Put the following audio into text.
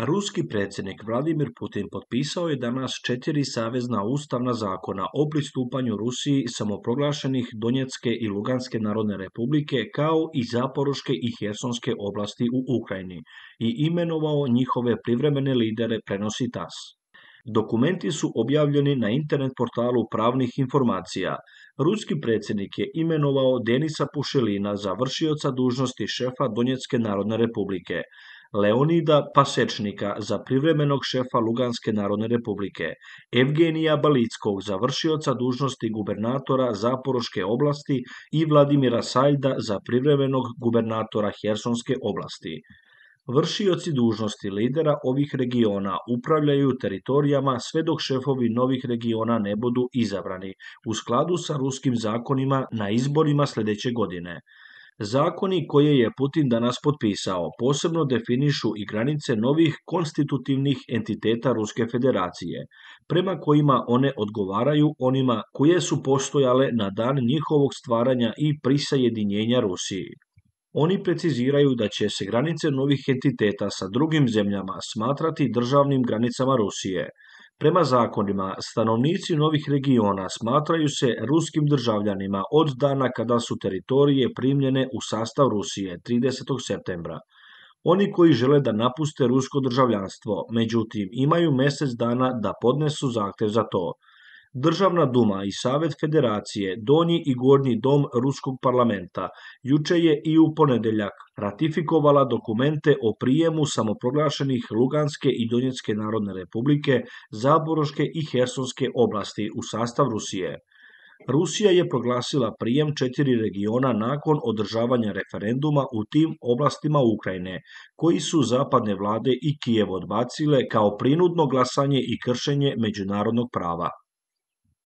Ruski predsjednik Vladimir Putin potpisao je danas 4 savezna ustavna zakona o pristupanju Rusiji samoproglašenih Donjecke i Luganske narodne republike kao i Zaporoške i Hersonske oblasti u Ukrajini i imenovao njihove privremene lidere, prenosi TASS. Dokumenti su objavljeni na internet portalu pravnih informacija. Ruski predsjednik je imenovao Denisa Pušelina za vršioca dužnosti šefa Donjecke narodne republike, Leonida Pasečnika za privremenog šefa Luganske narodne republike, Evgenija Balickog za vršioca dužnosti gubernatora Zaporoške oblasti i Vladimira Sajda za privremenog gubernatora Hersonske oblasti. Vršioci dužnosti lidera ovih regiona upravljaju teritorijama sve dok šefovi novih regiona ne budu izabrani u skladu sa ruskim zakonima na izborima sljedeće godine. Zakoni koje je Putin danas potpisao posebno definišu i granice novih konstitutivnih entiteta Ruske federacije, prema kojima one odgovaraju onima koje su postojale na dan njihovog stvaranja i prisajedinjenja Rusiji. Oni preciziraju da će se granice novih entiteta sa drugim zemljama smatrati državnim granicama Rusije. Prema zakonima, stanovnici novih regiona smatraju se ruskim državljanima od dana kada su teritorije primljene u sastav Rusije 30. septembra. Oni koji žele da napuste rusko državljanstvo, međutim, imaju mjesec dana da podnesu zahtev za to. Državna duma i Savet federacije, donji i gornji dom Ruskog parlamenta, juče je i u ponedjeljak ratifikovala dokumente o prijemu samoproglašenih Luganske i Donjecke narodne republike, Zaporoške i Hersonske oblasti u sastav Rusije. Rusija je proglasila prijem 4 regiona nakon održavanja referenduma u tim oblastima Ukrajine, koji su zapadne vlade i Kijev odbacile kao prinudno glasanje i kršenje međunarodnog prava.